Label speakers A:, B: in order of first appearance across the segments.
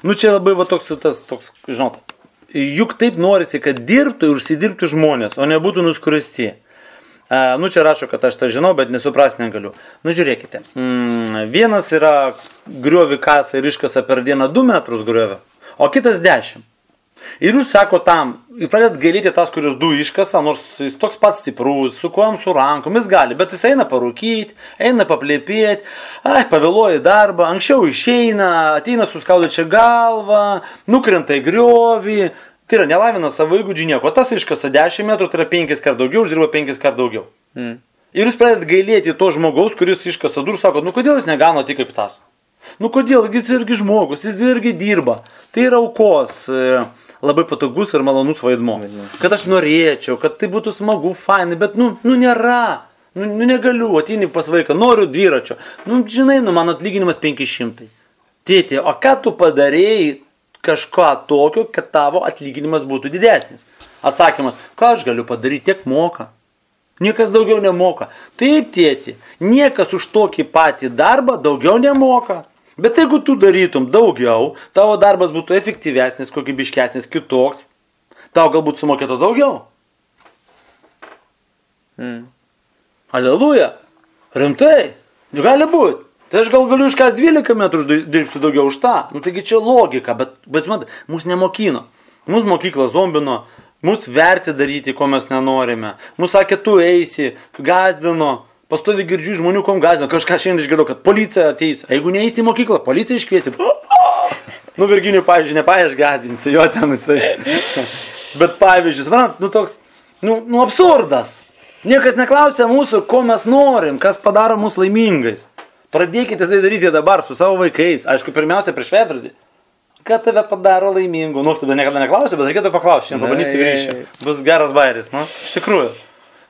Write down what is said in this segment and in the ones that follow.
A: Nu čia labai va toks, žinot, juk taip norisi, kad dirbtų ir užsidirbtų žmonės, o nebūtų nuskuristi. Nu čia rašo, kad aš tą žinau, bet nesuprast negaliu. Nu žiūrėkite, vienas yra griovį kasą ir iškasa per dieną 2 metrus griovio, o kitas 10. Ir jūs sako tam, pradėt gailėti tas, kurios 2 iškasa, nors jis toks pats stiprus, su kojom, su rankom, jis gali, bet jis eina parūkyti, eina paplėpėti, pavėluoja į darbą, anksčiau išeina, ateina suskaudė čia galvą, nukrenta į griovį, tai yra nelavina savo įgūdžių nieko, tas iškasa 10 metrų, tai yra 5 kart daugiau, uždirba 5 kart daugiau. Ir jūs pradėt gailėti to žmogaus, kuris iškasa durų, sako, nu kodėl jis negauna tik kaip tas? Nu kodėl, jis irgi žmogus, jis irgi dirba, tai yra aukos. Labai patogus ir malonus vaidmo. Kad aš norėčiau, kad tai būtų smagu, fainai, bet nėra. Nu negaliu, ateini pas vaiką, noriu dviračio. Nu žinai, mano atlyginimas 500. Tėti, o ką tu padarėjai kažką tokio, kad tavo atlyginimas būtų didesnis? Atsakymas, ką aš galiu padaryti, tiek moka. Niekas daugiau nemoka. Taip, tėti, niekas už tokį patį darbą daugiau nemoka. Bet jeigu tu darytum daugiau, tavo darbas būtų efektyvesnis, kokybiškesnis, kitoks, tau galbūt sumokėtų daugiau. Aleluja. Rimtai. Gali būti. Tai aš gal galiu iškas 12 metrų dirbsiu daugiau už tą. Nu taigi čia logika, bet matai, mūsų nemokino. Mūsų mokykla zombino, mūsų verti daryti, ko mes nenorime. Mūsų sakė, tu eisi, gazdino. Pastovi girdžiu žmonių, kom gazino. Kažką šiandien išgirdau, kad policija ateis. Jeigu neįsi į mokyklą, policija iškviesi. Nu, Virginijų, pavyzdžiui, aš gazdinsiu, jo ten jisai. Bet pavyzdžiui, toks, absurdas. Niekas neklausia mūsų, ko mes norim, kas padaro mūsų laimingais. Pradėkite tai daryti dabar su savo vaikais. Aišku, pirmiausia, prieš veidrodį. Ką tave padaro laimingu? Nu, aš tada niekada neklausiu, bet reikėtų paklausti. Šiandien pabandysiu grįžti. Bus geras bairis, iš tikrųjų.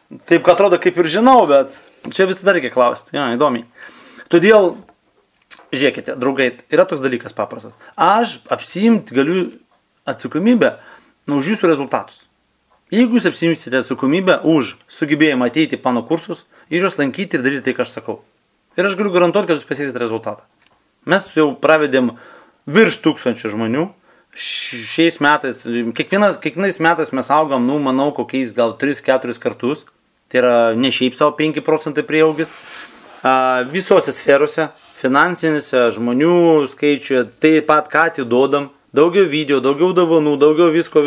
A: Taip, kad atrodo, kaip ir žinau, bet čia visada reikia klausti. Ja, įdomiai. Todėl, žiūrėkite, draugai, yra toks dalykas paprastas. Aš apsiimti galiu atsakomybę už jūsų rezultatus. Jeigu jūs apsiimsite atsakomybę už sugebėjimą ateiti į mano kursus ir juos lankyti ir daryti tai, ką aš sakau. Ir aš galiu garantuoti, kad jūs pasieksite rezultatą. Mes jau pravedėm virš 1000 žmonių. Šiais metais, kiekvienais metais mes augam, manau, kokiais gal 3-4 kartus. Tai yra ne šiaip savo 5% prieaugis. Visose sferose, finansinėse, žmonių skaičiuje, taip pat ką atiduodam. Daugiau video, daugiau dovanų, daugiau visko.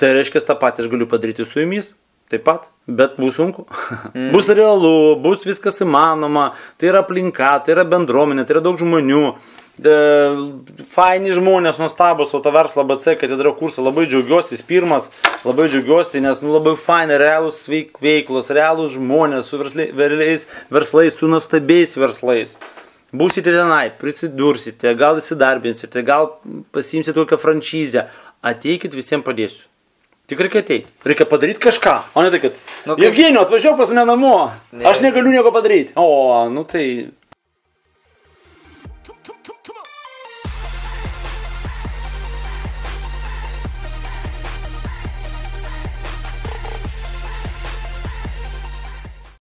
A: Tai reiškia, tą patį aš galiu padaryti su jumis. Taip pat, bet bus sunku. Bus realu, bus viskas įmanoma. Tai yra aplinka, tai yra bendruomenė, tai yra daug žmonių. Faini žmonės, nuostabus, o to verslo ABC, kad įdariau kursą, labai džiaugiuosi, jis pirmas, labai džiaugiuosi, nes labai faini, realūs veiklos, realūs žmonės, su verslais, su nuostabiais verslais. Būsite tenai, prisidursite, gal įsidarbinsite, gal pasiimsite tokią franšizę, ateikit, visiems padėsiu. Tik reikia ateiti, reikia padaryti kažką, o ne tai, kad Evgenijau, atvažiuok pas mane namo, aš negaliu nieko padaryti. O, tai